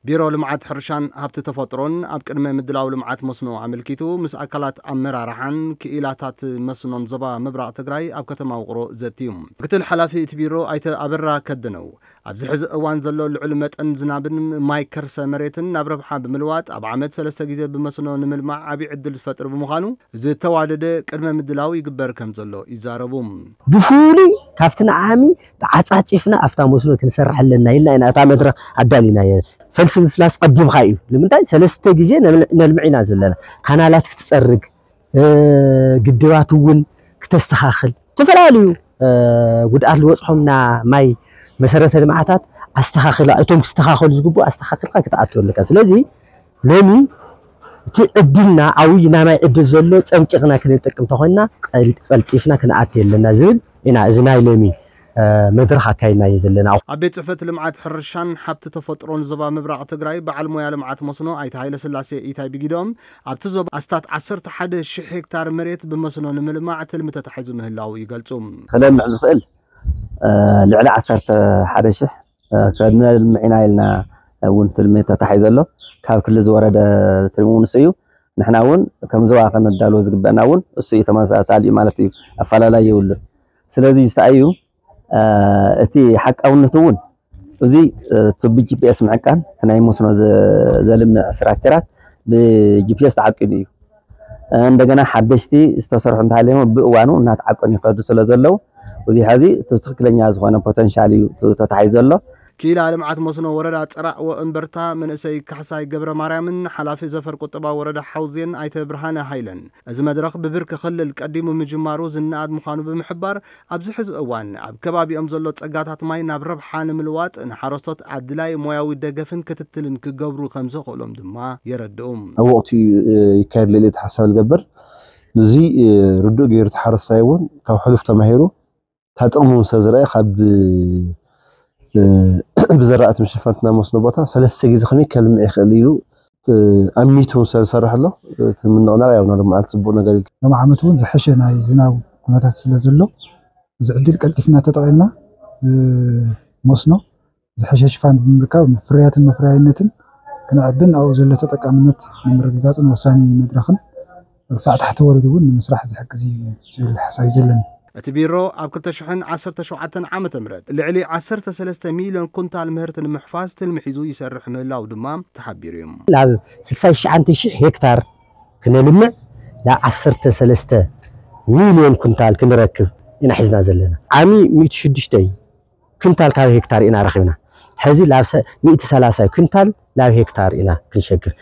ቢሮ ልምዓት ሕርሻን ሃብቲ ተፈጥሮን ኣብ ቅድመ ምድላው ልምዓት መስኖ ኣመልኪቱ ምስ ኣካላት ኣመራርሓን ክኢላታት መስኖን ዞባ ምብራቕ ትግራይ ኣብ ከተማ ውቕሮ ዘትዩ። ምክትል ሓላፊ እቲ ቢሮ ኣይተ ኣበራ ከደነው ኣብዚ ሕዚ እዋን ዘሎ ልዑል መጠን ዝናብን ማይ ከርሰ መሬትን ናብ ረብሓ ብምልዋጥ ኣብ ዓመት ሰለስተ ግዜ ብመስኖ ንምልማዕ ዓብዪ ዕድል ዝፈጥር ብምዃኑ ዝተዋደደ ቅድመ ምድላው ይግበር ከም ዘሎ ይዛረቡ። ብፍሉይ ካብቲ ንዓሚ ተዓፃፂፍና ኣብታ መስኖ ክንሰርሕ ኣለና ኢልና ኢና እታ መድረክ ኣዳሊናዮ። ፈልሲ ምፍላስ ቀዲምካ እዩ። ንምንታይ ሰለስተ ግዜ ነልምዕ ኢና ዘለና። ካናላት ክትፀርግ፣ ግድባት እውን ክተስተኻኽል፣ ዝተፈላለዩ ጉድኣት ዝበፅሖምና ማይ መሰረተ ልምዓታት ኣስተኻኽላ፣ እቶም ክስተኻኸሉ ዝግቡ ኣስተኻኽልካ ክትኣትወ ኣለካ። ስለዚ ሎሚ እቲ ዕድልና ዓብይ ናይ ማይ ዕድል ዘሎ ፀንቂቕና ክንጥቀም ተኾይንና ቀልጢፍና ክንኣቲ ኣለና ዝብል ኢና እዚ ናይ ሎሚ መድረኽ ኣካይድናዮ ዘለና። ኣብ ቤት ፅሕፈት ልምዓት ሕርሻን ሃብቲ ተፈጥሮን ዞባ ምብራቕ ትግራይ በዓል ሞያ ልምዓት መስኖ ኣይተ ሃይለ ስላሴ ኢታይ ብጊዶም ኣብቲ ዞባ ኣስታት ዓሰርተ ሓደ ሺሕ ሄክታር መሬት ብመስኖ ንምልማዕ ትልሚ ተታሒዙ ምህላው ይገልፁ። ክለምዕ ዝኽእል ልዕሊ ዓሰርተ ሓደ ሺሕ ከነልምዕ ኢና ኢልና እውን ትልሚ ተታሒዙ ኣሎ። ካብ ክሊ ዝወረደ ትልሚ እውን ንሱ እዩ። ንሕና እውን ከም ዞባ ከነዳልዎ ዝግበአና እውን እሱ እዩ፣ ተመሳሳሊ እዩ ማለት እዩ። ኣፈላላይ የብሉን። ስለዚ ዝተኣዩ እቲ ሓቃውነት እውን እዚ ቱቢ ጂፒኤስ ምዕቃን እቲ ናይ መስኖ ዘልምዕ ስትራክቸራት ብጂፒኤስ ተዓቂኑ እዩ። እንደገና ሓደሽቲ ዝተሰርሑ እንተሃለዮም ብእዋኑ እናተዓቀኑ ይኸዱ ስለ ዘለዉ እዚ ሕዚ እቲ ትክክለኛ ዝኾነ ፖተንሻል እዩ ተታሒዙ ዘሎ። ክኢላ ልምዓት መስኖ ወረዳ ፅራእ ወእምበርታ መንእሰይ ካሕሳይ ገብረ ማርያምን ሓላፊ ዘፈር ቁጠባ ወረዳ ሓውዜን ኣይተ ብርሃነ ሃይለን እዚ መድረኽ ብብርኪ ክልል ቀዲሙ ምጅማሩ ዝነኣድ ምዃኑ ብምሕባር ኣብዚ ሕዚ እዋን ኣብ ከባቢኦም ዘሎ ፀጋታት ማይ ናብ ረብሓ ንምልዋጥ ንሓረስቶት ኣድላይ ሞያዊ ደገፍን ክትትልን ክገብሩ ከም ዘኽእሎም ድማ የረድኡ። ኣብ ወቕቱ ይካየድ ለለ ተሓሳቢ ዝገብር እዚ ርዱእ ገይሩ ተሓረስታይ እውን ካብ ሕሉፍ ተማሂሩ እታ ጥቕሚ እውን ስለ ዝረኣየ ካብ ብዘራእቲ ምሽፋን እቲ ናይ መስኖ ቦታ ሰለስተ ግዜ ከመይ ከልምዕ ይኽእል ኢሉ ኣሚቱ እውን ስለ ዝሰርሕ ኣሎ። እቲ ምንቕናቕ ያው ናሎም መዓልቲ ፅቡቕ ነገር ኢልካ ሎም ዓመት እውን ዝሐሸ ናይ ዝናብ ኩነታት ስለ ዘሎ እዚ ዕድል ቀልጢፍና ተጠቒምና መስኖ ዝሐሸ ሽፋን ብምርካብ ፍርያትን መፍረያይነትን ክነዕብን ኣብኡ ዘሎ ተጠቃምነት ንምርግጋፅን ወሳኒ መድረኽን ክሳዕ ታሕቲ ወሪዱ እውን ንምስራሕ ዝሕግዝ እዩ ዝብል ሓሳብ እዩ ዘለኒ። እቲ ቢሮ ኣብ ክልተ ሽሕን ዓሰርተ ሸውዓተን ዓመተ ምህረት ልዕሊ ዓሰርተ ሰለስተ ሚልዮን ኩንታል ምህርቲ ንምሕፋዝ ትልሚ ሒዙ ይሰርሕ ምህላው ድማ ተሓቢሩ እዩ። ናብ ስልሳ ትሽዓተ ሺሕ ሄክታር ክነልምዕ ናብ ዓሰርተ ሰለስተ ሚልዮን ኩንታል ክንረክብ ኢና ሒዝና ዘለና። ዓሚ ሚእቲ ሽዱሽተ እዩ ኩንታል ካብ ሄክታር ኢና ረኺብና። ሕዚ ናብ ሚእቲ ሰላሳ ኩንታል ናብ ሄክታር ኢና ክንሸግር።